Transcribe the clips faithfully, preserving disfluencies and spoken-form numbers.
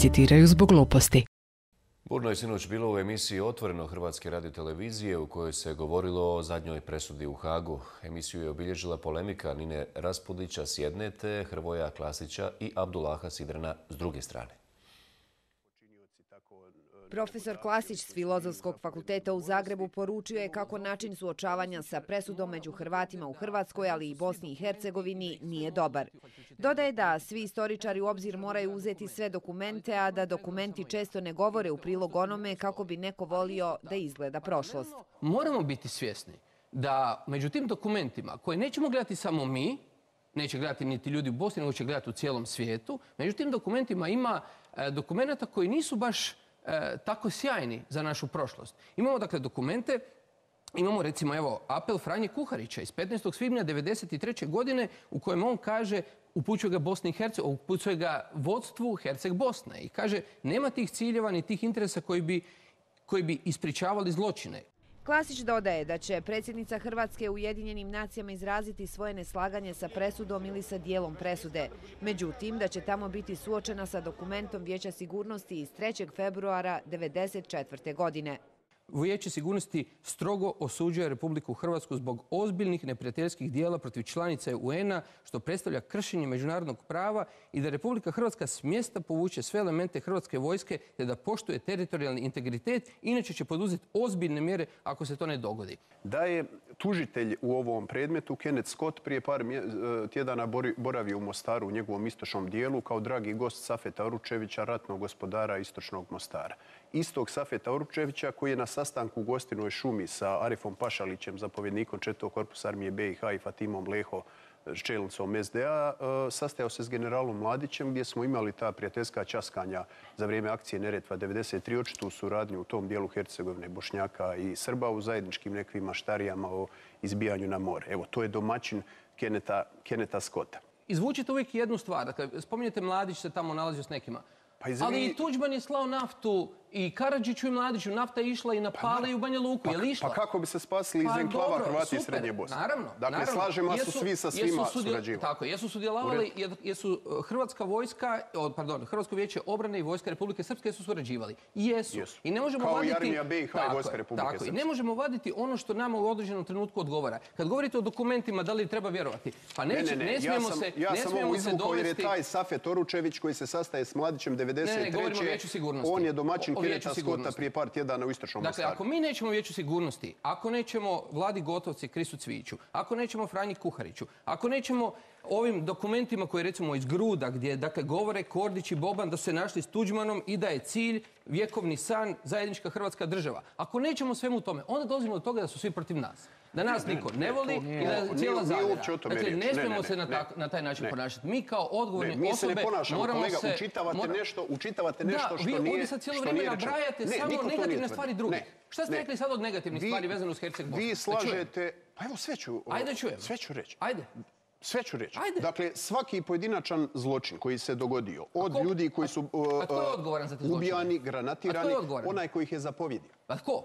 citiraju zbog gluposti. Burno je sinoć bilo u emisiji Otvoreno Hrvatske radiotelevizije u kojoj se govorilo o zadnjoj presudi u Hagu. Emisiju je obilježila polemika Nine Raspudića s jedne te Hrvoja Klasića i Abdullaha Sidrana s druge strane. Profesor Klasić s Filozofskog fakulteta u Zagrebu poručio je kako način suočavanja sa presudom među Hrvatima u Hrvatskoj, ali i Bosni i Hercegovini, nije dobar. Dodaje da svi istoričari u obzir moraju uzeti sve dokumente, a da dokumenti često ne govore u prilog onome kako bi neko volio da izgleda prošlost. Moramo biti svjesni da među tim dokumentima koje nećemo gledati samo mi, neće gledati niti ljudi u Bosni, nego će gledati u cijelom svijetu, među tim dokumentima ima e, dokumenta koji nisu baš E, tako sjajni za našu prošlost. Imamo dakle dokumente, imamo recimo evo apel Franje Kuharića iz petnaestog svibnja devedeset treće godine u kojem on kaže, upućuje ga Bosni i Hercegovini, upućuje ga vodstvu Herceg Bosne i kaže nema tih ciljeva ni tih interesa koji bi, koji bi ispričavali zločine. Klasić dodaje da će predsjednica Hrvatske u Ujedinjenim nacijama izraziti svoje neslaganje sa presudom ili sa dijelom presude. Međutim, da će tamo biti suočena sa dokumentom Vijeća sigurnosti iz trećeg februara devedeset četvrte godine. Vijeće sigurnosti strogo osuđuje Republiku Hrvatsku zbog ozbiljnih neprijateljskih dijela protiv članice U N A, što predstavlja kršenje međunarodnog prava i da Republika Hrvatska s mjesta povuče sve elemente hrvatske vojske te da poštuje teritorijalni integritet, inače će poduzeti ozbiljne mjere ako se to ne dogodi. Da je tužitelj u ovom predmetu, Kenneth Scott, prije par tjedana boravio u Mostaru u njegovom istočnom dijelu kao dragi gost Safeta Oručevića, ratnog gospodara istočnog Mostara. Istog Safeta Oručevića koji je na sastanku u Gostinoj šumi sa Arifom Pašalićem, zapovjednikom četvrtog korpusa armije B i H i Fatimom Leho, čelnicom S D A, sastajao se s generalom Mladićem gdje smo imali ta prijateljska časkanja za vrijeme akcije Neretva devedeset tri, očitu suradnju u tom dijelu Hercegovine, Bošnjaka i Srba u zajedničkim nekvim maštarijama o izbijanju na more. Evo, to je domaćin Kennetha, Kennetha Scotta. Izvučite uvijek jednu stvar. Dakle, spominjete Mladić se tamo nalazio s nekima. Pa ali i Tuđman je slao naftu i Karadžiću i Mladiću. Nafta je išla i na Pale i u Banja Luku. Je li išla? Pa kako bi se spasili iz enklava Hrvati iz Srednje Bosne? Naravno. Dakle, slažemo su svi sa svima surađivali. Tako, jesu sudjelovali, jesu Hrvatska vojska, pardon, Hrvatsko vijeće obrane i vojska Republike Srpske jesu surađivali. Jesu. I ne možemo vaditi... Kao i armija B i H i vojska Republike Srpske. I ne možemo vaditi ono što nama u određenom trenutku odgovara. Kad govorite o dokumentima, da li treba vjerovati? Pa ne smijemo se Ja sam ovo izvukao jer je taj Safet Oručević koji se sastaje s Mladićem devedeset treće on je domaćin Kennetha Scotta prije par tjedana u istočnom Mostaru. Dakle, ako mi nećemo Vijeću sigurnosti, ako nećemo Vladi Gotovci, Krisu Cvijiću, ako nećemo Franji Kuhariću, ako nećemo ovim dokumentima koji recimo iz Gruda gdje dakle, govore Kordić i Boban da su se našli s Tuđmanom i da je cilj vjekovni san zajednička Hrvatska država. Ako nećemo svemu tome, onda dolazimo do toga da su svi protiv nas. Da nas niko ne voli i da je cijela zavjera. Dakle, ne smijemo se na taj način ponašati. Mi kao odgovorne osobe moramo se... Učitavate nešto, učitavate nešto što nije rečeno. Da, vi ovdje sad cijelo vrijeme nabrajate samo negativne stvari drugih. Šta ste rekli sad od negativnih stvari vezano uz Herceg Bosnu? Vi slažete... Pa evo sve ću... Ajde čujem. Sve ću reći. Ajde. Sve ću reći. Dakle, svaki pojedinačan zločin koji se dogodio od ljudi koji su ubijani, granatirani, onaj koji ih je zapovjedio. A tko?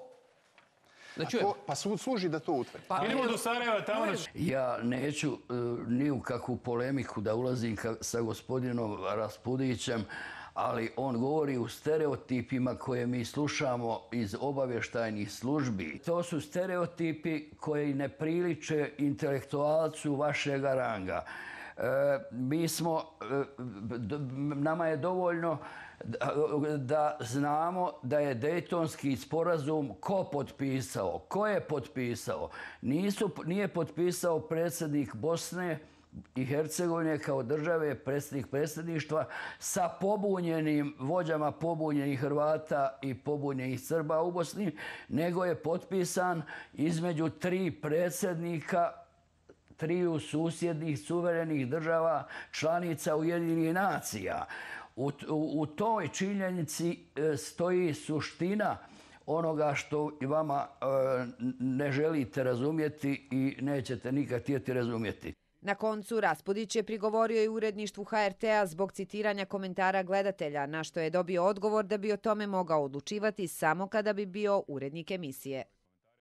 Pa služi da to utvrdi. Idemo do Sarajeva tamo. Ja neću ni u kakvu polemiku da ulazim sa gospodinom Raspudićem, ali on govori u stereotipima koje mi slušamo iz obavještajnih službi. To su stereotipi koji ne priliče intelektualcu vašega ranga. Mi smo, nama je dovoljno da znamo da je Dejtonski sporazum ko potpisao, ko je potpisao. Nije potpisao predsjednik Bosne i Hercegovine kao države, predsjednik predsjedništva sa pobunjenim vođama pobunjenih Hrvata i pobunjenih Srba u Bosni, nego je potpisan između tri predsjednika triju susjednih suverenih država članica Ujedinjenih nacija. U, u, u toj činjenici stoji suština onoga što vama e, ne želite razumjeti i nećete nikad htjeti razumjeti. Na koncu Raspudić je prigovorio i uredništvu H R T A zbog citiranja komentara gledatelja, na što je dobio odgovor da bi o tome mogao odlučivati samo kada bi bio urednik emisije.